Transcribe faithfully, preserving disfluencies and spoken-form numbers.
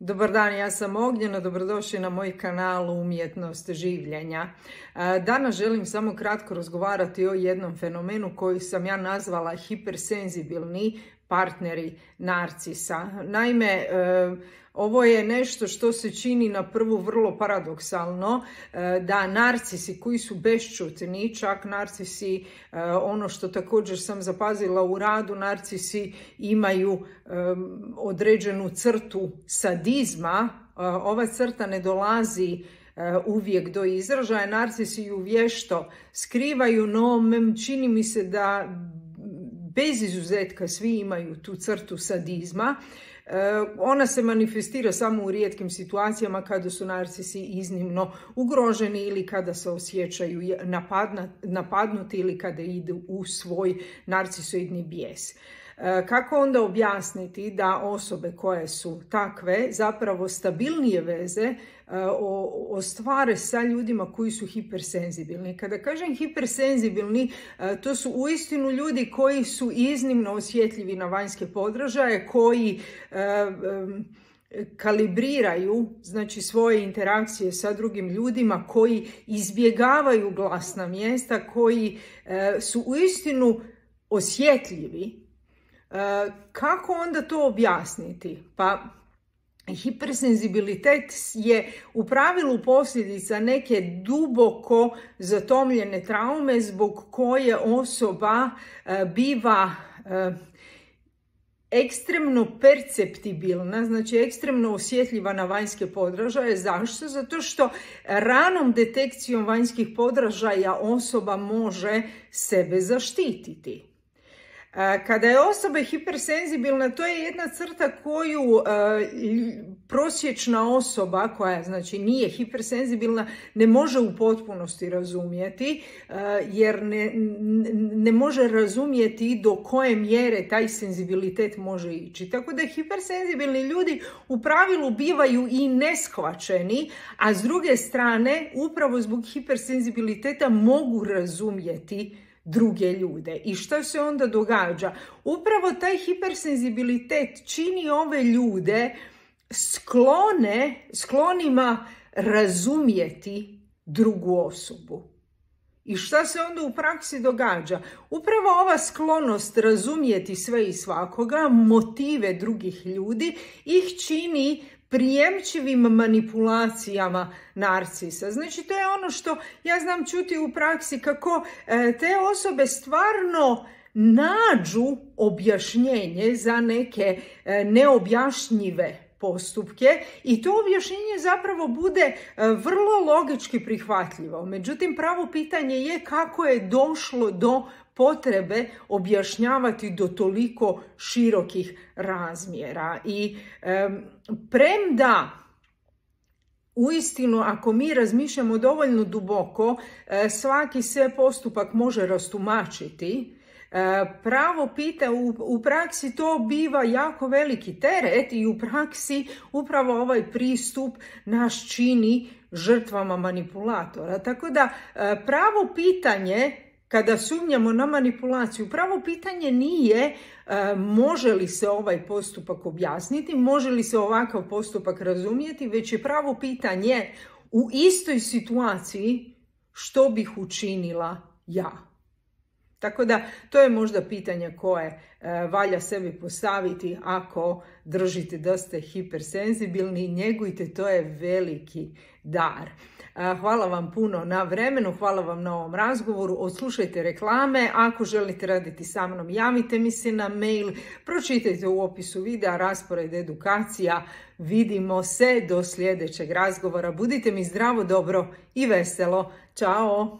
Dobar dan, ja sam Ognjena, dobrodošli na moj kanal Umjetnost življenja. Danas želim samo kratko razgovarati o jednom fenomenu koji sam ja nazvala hipersenzibilni partneri narcisa. Naime, ovo je nešto što se čini na prvu vrlo paradoksalno, da narcisi koji su bešćutni, čak narcisi, ono što također sam zapazila u radu, narcisi imaju određenu crtu sadizma. Ova crta ne dolazi uvijek do izražaja, narcisi ju vješto skrivaju, no čini mi se da bez izuzetka svi imaju tu crtu sadizma. Ona se manifestira samo u rijetkim situacijama kada su narcisi iznimno ugroženi ili kada se osjećaju napadnuti ili kada idu u svoj narcisoidni bijes. Kako onda objasniti da osobe koje su takve zapravo stabilnije veze ostvare sa ljudima koji su hipersenzibilni? Kada kažem hipersenzibilni, to su uistinu ljudi koji su iznimno osjetljivi na vanjske podražaje, koji kalibriraju znači svoje interakcije sa drugim ljudima, koji izbjegavaju glasna mjesta, koji su uistinu osjetljivi. Kako onda to objasniti? Pa hipersenzibilitet je u pravilu posljedica neke duboko zatomljene traume zbog koje osoba biva ekstremno perceptibilna, znači ekstremno osjetljiva na vanjske podražaje. Zašto? Zato što ranom detekcijom vanjskih podražaja osoba može sebe zaštititi. Kada je osoba hipersenzibilna, to je jedna crta koju uh, prosječna osoba koja znači nije hipersenzibilna ne može u potpunosti razumjeti, uh, jer ne, ne može razumjeti do koje mjere taj senzibilitet može ići. Tako da hipersenzibilni ljudi u pravilu bivaju i neshvaćeni, a s druge strane upravo zbog hipersenzibiliteta mogu razumjeti druge ljude. I što se onda događa? Upravo taj hipersenzibilitet čini ove ljude sklone, sklonima razumjeti drugu osobu. I šta se onda u praksi događa? Upravo ova sklonost razumjeti sve i svakoga, motive drugih ljudi, ih čini prijemčivim manipulacijama narcisa. Znači, to je ono što ja znam čuti u praksi, kako te osobe stvarno nađu objašnjenje za neke neobjašnjive postupke i to objašnjenje zapravo bude vrlo logički prihvatljivo. Međutim, pravo pitanje je kako je došlo do potrebe objašnjavati do toliko širokih razmjera. I um, premda uistinu, ako mi razmišljamo dovoljno duboko, svaki se postupak može rastumačiti, pravo pita, u, u praksi to biva jako veliki teret i u praksi upravo ovaj pristup nas čini žrtvama manipulatora. Tako da pravo pitanje, kada sumnjamo na manipulaciju, pravo pitanje nije e, može li se ovaj postupak objasniti, može li se ovakav postupak razumjeti, već je pravo pitanje u istoj situaciji što bih učinila ja. Tako da to je možda pitanje koje e, valja sebi postaviti ako držite da ste hipersenzibilni, njegujte, to je veliki dar. Hvala vam puno na vremenu, hvala vam na ovom razgovoru, odslušajte reklame, ako želite raditi sa mnom javite mi se na mail, pročitajte u opisu videa raspored edukacija, vidimo se do sljedećeg razgovora, budite mi zdravo, dobro i veselo, čao!